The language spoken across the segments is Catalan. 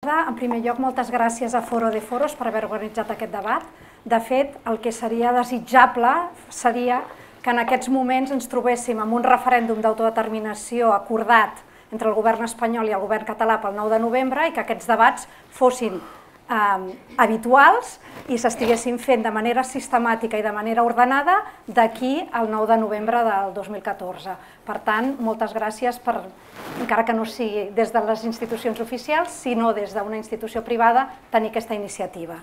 En primer lloc, moltes gràcies a Foro de Foros per haver organitzat aquest debat. De fet, el que seria desitjable seria que en aquests moments ens trobéssim amb un referèndum d'autodeterminació acordat entre el govern espanyol i el govern català pel 9 de novembre i que aquests debats fossin habituals i s'estiguessin fent de manera sistemàtica i de manera ordenada d'aquí al 9 de novembre del 2014. Per tant, moltes gràcies per, encara que no sigui des de les institucions oficials, sinó des d'una institució privada, tenir aquesta iniciativa.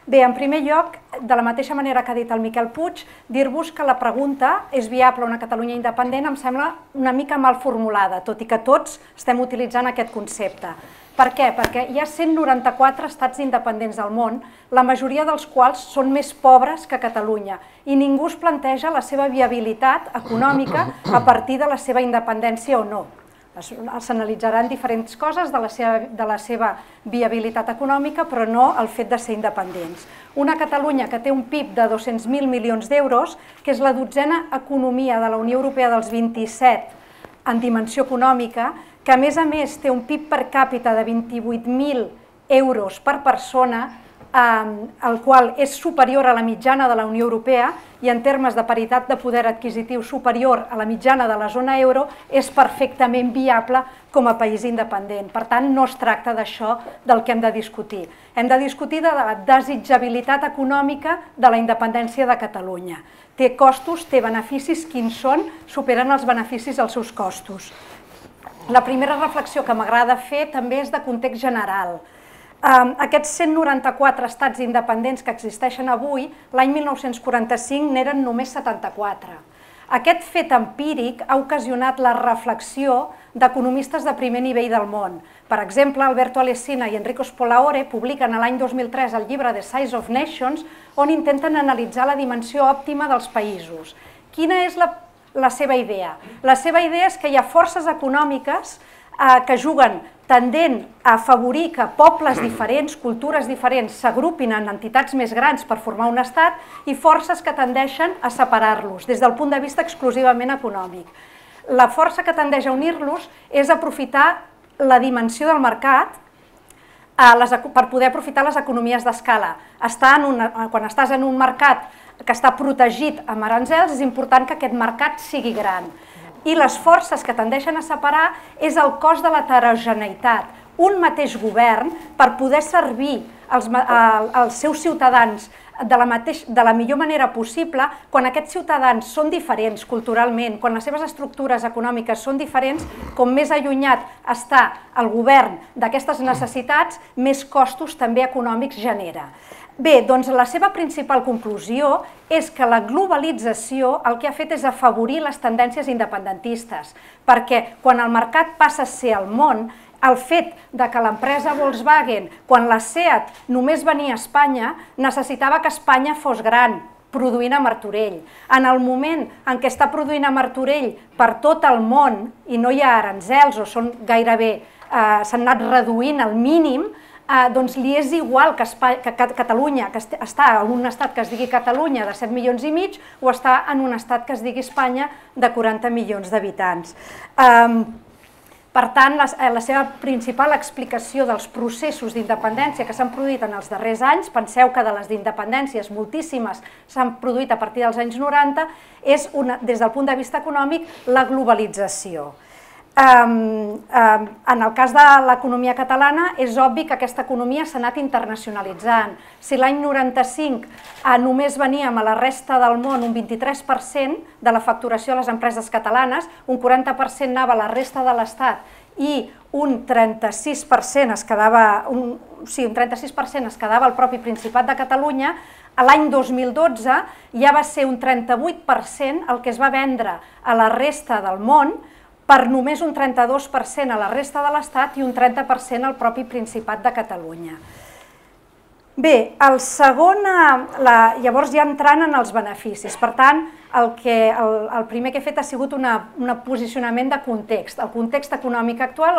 Bé, en primer lloc, de la mateixa manera que ha dit el Miquel Puig, dir-vos que la pregunta és viable una Catalunya independent em sembla una mica mal formulada, tot i que tots estem utilitzant aquest concepte. Per què? Perquè hi ha 194 estats independents al món, la majoria dels quals són més pobres que Catalunya, i ningú es planteja la seva viabilitat econòmica a partir de la seva independència o no. S'analitzaran diferents coses de la seva viabilitat econòmica, però no el fet de ser independents. Una Catalunya que té un PIB de 200.000 milions d'euros, que és la 12a economia de la Unió Europea dels 27 en dimensió econòmica, que a més té un PIB per càpita de 28.000 euros per persona, el qual és superior a la mitjana de la Unió Europea i en termes de paritat de poder adquisitiu superior a la mitjana de la zona euro, és perfectament viable com a país independent. Per tant, no es tracta d'això del que hem de discutir. Hem de discutir de la desitjabilitat econòmica de la independència de Catalunya. Té costos, té beneficis, quins són? Superen els beneficis als seus costos. La primera reflexió que m'agrada fer també és de context general. Aquests 194 estats independents que existeixen avui, l'any 1945 n'eren només 74. Aquest fet empíric ha ocasionat la reflexió d'economistes de primer nivell del món. Per exemple, Alberto Alesina i Enrico Spolaore publiquen l'any 2003 el llibre The Size of Nations, on intenten analitzar la dimensió òptima dels països. Quina és la seva idea? La seva idea és que hi ha forces econòmiques que juguen tendent a afavorir que pobles diferents, cultures diferents, s'agrupin en entitats més grans per formar un estat i forces que tendeixen a separar-los des del punt de vista exclusivament econòmic. La força que tendeix a unir-los és aprofitar la dimensió del mercat per poder aprofitar les economies d'escala. Quan estàs en un mercat que està protegit amb aranzels, és important que aquest mercat sigui gran. I les forces que tendeixen a separar és el cost de l'heterogeneïtat. Un mateix govern, per poder servir als seus ciutadans de la millor manera possible, quan aquests ciutadans són diferents culturalment, quan les seves estructures econòmiques són diferents, com més allunyat està el govern d'aquestes necessitats, més costos també econòmics genera. Bé, doncs la seva principal conclusió és que la globalització el que ha fet és afavorir les tendències independentistes, perquè quan el mercat passa a ser el món, el fet que l'empresa Volkswagen, quan la SEAT només venia a Espanya, necessitava que Espanya fos gran, produint a Martorell. En el moment en què està produint a Martorell per tot el món i no hi ha aranzels o són gairebé, s'han anat reduint al mínim, doncs li és igual que Catalunya, que està en un estat que es digui Catalunya de 7 milions i mig o està en un estat que es digui Espanya de 40 milions d'habitants. Per tant, la seva principal explicació dels processos d'independència que s'han produït en els darrers anys, penseu que de les d'independències moltíssimes s'han produït a partir dels anys 90, és, des del punt de vista econòmic, la globalització. En el cas de l'economia catalana és obvi que aquesta economia s'ha anat internacionalitzant. Si l'any 95 només veníem a la resta del món un 23% de la facturació de les empreses catalanes, un 40% anava a la resta de l'Estat i un 36% es quedava al propi Principat de Catalunya, l'any 2012 ja va ser un 38% el que es va vendre a la resta del món, per només un 32% a la resta de l'Estat i un 30% al propi Principat de Catalunya. Bé, llavors ja entrant en els beneficis, per tant, el primer que he fet ha sigut un posicionament de context. El context econòmic actual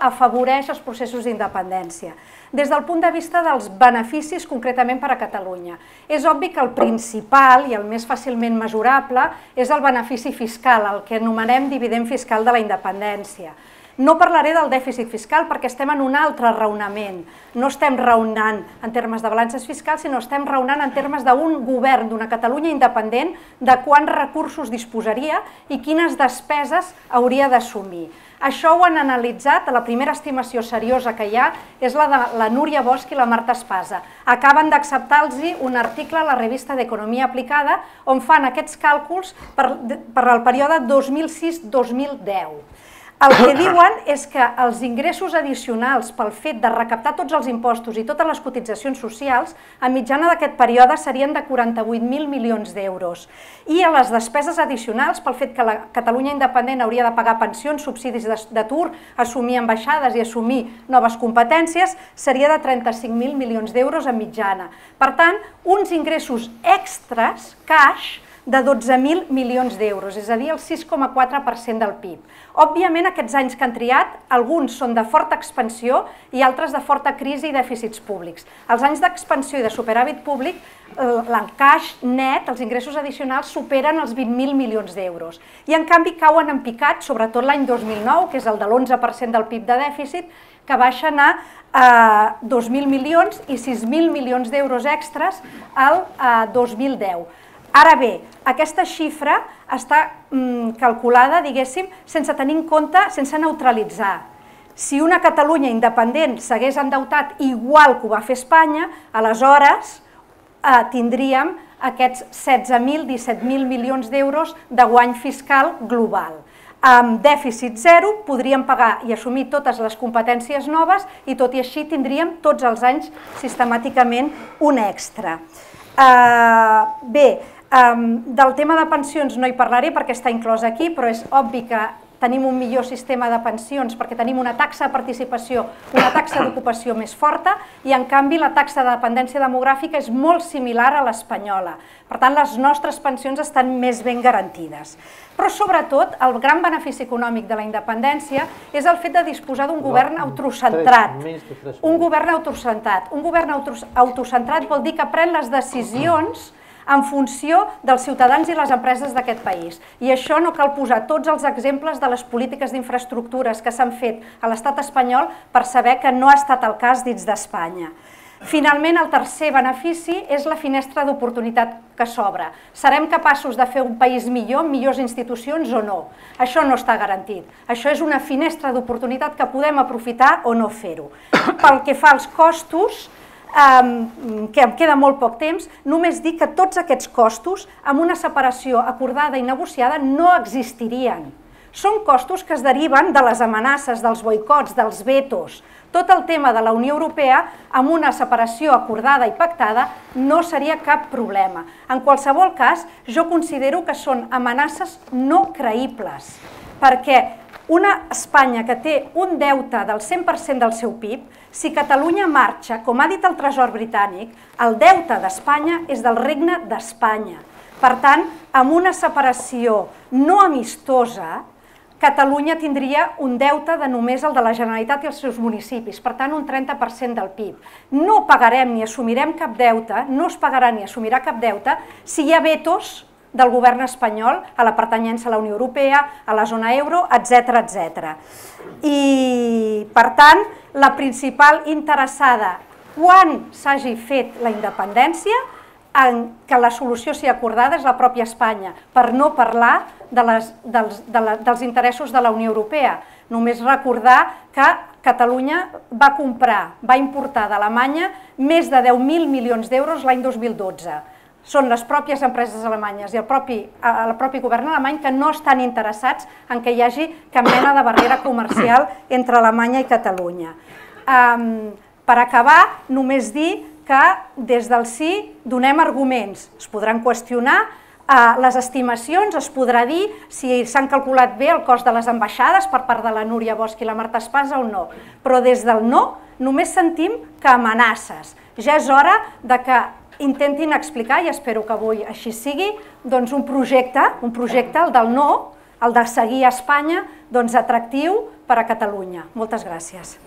afavoreix els processos d'independència. Des del punt de vista dels beneficis, concretament per a Catalunya, és obvi que el principal i el més fàcilment mesurable és el benefici fiscal, el que anomenem dividend fiscal de la independència. No parlaré del dèficit fiscal perquè estem en un altre raonament. No estem raonant en termes de balances fiscals, sinó estem raonant en termes d'un govern d'una Catalunya independent, de quants recursos disposaria i quines despeses hauria d'assumir. Això ho han analitzat, la primera estimació seriosa que hi ha és la de la Núria Bosch i la Marta Espasa. Acaben d'acceptar-los un article a la revista d'Economia Aplicada on fan aquests càlculs per al període 2006-2010. El que diuen és que els ingressos addicionals pel fet de recaptar tots els impostos i totes les cotitzacions socials, a mitjana d'aquest període serien de 48.000 milions d'euros. I a les despeses addicionals, pel fet que la Catalunya independent hauria de pagar pensions, subsidis d'atur, assumir ambaixades i assumir noves competències, seria de 35.000 milions d'euros a mitjana. Per tant, uns ingressos extres, cash, de 12.000 milions d'euros, és a dir, el 6,4% del PIB. Òbviament, aquests anys que han triat, alguns són de forta expansió i altres de forta crisi i dèficits públics. Els anys d'expansió i de superàvit públic, l'encaix net, els ingressos addicionals, superen els 20.000 milions d'euros. I, en canvi, cauen en picat, sobretot l'any 2009, que és el de l'11% del PIB de dèficit, que baixen a 2.000 milions i 6.000 milions d'euros extres al 2010. Ara bé, aquesta xifra està calculada, diguéssim, sense tenir en compte, sense neutralitzar. Si una Catalunya independent s'hagués endeutat igual que ho va fer Espanya, aleshores tindríem aquests 16.000, 17.000 milions d'euros de guany fiscal global. Amb dèficit zero podríem pagar i assumir totes les competències noves i tot i així tindríem tots els anys sistemàticament un extra. Bé, del tema de pensions no hi parlaré perquè està inclòs aquí, però és obvi que tenim un millor sistema de pensions perquè tenim una taxa de participació, una taxa d'ocupació més forta i en canvi la taxa de dependència demogràfica és molt similar a l'espanyola. Per tant, les nostres pensions estan més ben garantides. Però sobretot el gran benefici econòmic de la independència és el fet de disposar d'un govern autocentrat. Un govern autocentrat. Un govern autocentrat vol dir que pren les decisions en funció dels ciutadans i les empreses d'aquest país. I això no cal posar tots els exemples de les polítiques d'infraestructures que s'han fet a l'estat espanyol per saber que no ha estat el cas dins d'Espanya. Finalment, el tercer benefici és la finestra d'oportunitat que s'obre. Serem capaços de fer un país millor, amb millors institucions o no? Això no està garantit. Això és una finestra d'oportunitat que podem aprofitar o no fer-ho. Pel que fa als costos, que em queda molt poc temps, només dir que tots aquests costos, amb una separació acordada i negociada, no existirien. Són costos que es deriven de les amenaces, dels boicots, dels vetos. Tot el tema de la Unió Europea, amb una separació acordada i pactada, no seria cap problema. En qualsevol cas, jo considero que són amenaces no creïbles, perquè una Espanya que té un deute del 100% del seu PIB, si Catalunya marxa, com ha dit el Tresor britànic, el deute d'Espanya és del Regne d'Espanya. Per tant, amb una separació no amistosa, Catalunya tindria un deute de només el de la Generalitat i els seus municipis, per tant un 30% del PIB. No pagarem ni assumirem cap deute, no es pagarà ni assumirà cap deute si hi ha vetos del govern espanyol a la pertanyença a la Unió Europea, a la zona euro, etc. I, per tant, la principal interessada, quan s'hagi fet la independència, que la solució sigui acordada és la pròpia Espanya, per no parlar dels interessos de la Unió Europea. Només recordar que Catalunya va comprar, va importar d'Alemanya més de 10.000 milions d'euros l'any 2012. Són les pròpies empreses alemanyes i el propi govern alemany que no estan interessats en que hi hagi cap mena de barrera comercial entre Alemanya i Catalunya. Per acabar, només dir que des del sí donem arguments. Es podran qüestionar les estimacions, es podrà dir si s'han calculat bé el cost de les ambaixades per part de la Núria Bosch i la Marta Espasa o no. Però des del no només sentim que amenaces. Ja és hora que intentin explicar, i espero que avui així sigui, doncs un projecte, el del no, el de seguir a Espanya, atractiu per a Catalunya. Moltes gràcies.